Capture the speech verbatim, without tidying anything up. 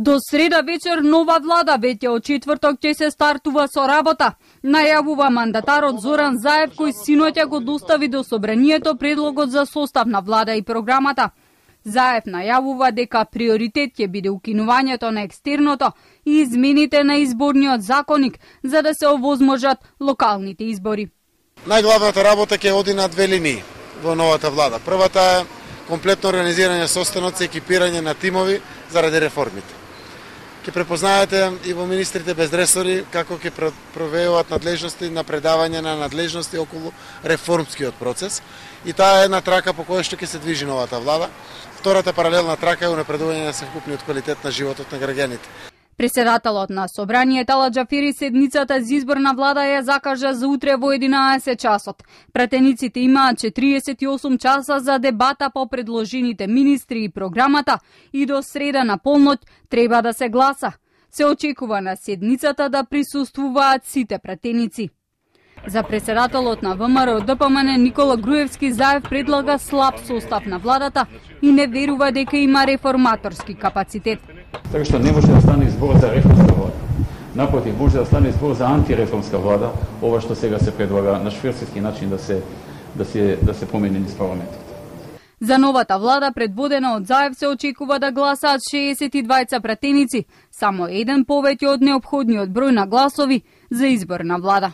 До среда вечер нова влада веќе од четврток ќе се стартува со работа, најавува мандатарот Зоран Заев, кој синоќа го достави до собранието предлогот за состав на влада и програмата. Заев најавува дека приоритет ќе биде укинувањето на екстерното и измените на изборниот законник за да се овозможат локалните избори. Најглавната работа ќе оди на две линии во новата влада. Првата е комплетно организирање состаноци, екипирање на тимови заради реформите. Ќе препознаете и во министрите без ресори како ќе провеуваат надлежности на предавање на надлежности околу реформскиот процес и таа е една трака по која што ќе се движи новата влада. Втората паралелна трака е унапредување на севкупниот квалитет на животот на граѓаните. Председателот на собранието Ала Џафери седницата за избор на влада ја закажа за утре во единаесет часот. Пратениците имаат четириесет и осум часа за дебата по предложените министри и програмата и до среда на полноќ треба да се гласа. Се очекува на седницата да присуствуваат сите пратеници. За председателот на ВМРО Д П М Н Никола Груевски, Заев предлага слаб состав на владата и не верува дека има реформаторски капацитет. Така што не може да стане збор за реформска влада. Напротив, може да стане збор за антиреформска влада, ова што сега се предлага на шверцерски начин да се да се да се промени низ парламентот. За новата влада предводена од Заев се очекува да гласаат шеесет и двајца пратеници, само еден повеќе од неопходниот број на гласови за избор на влада.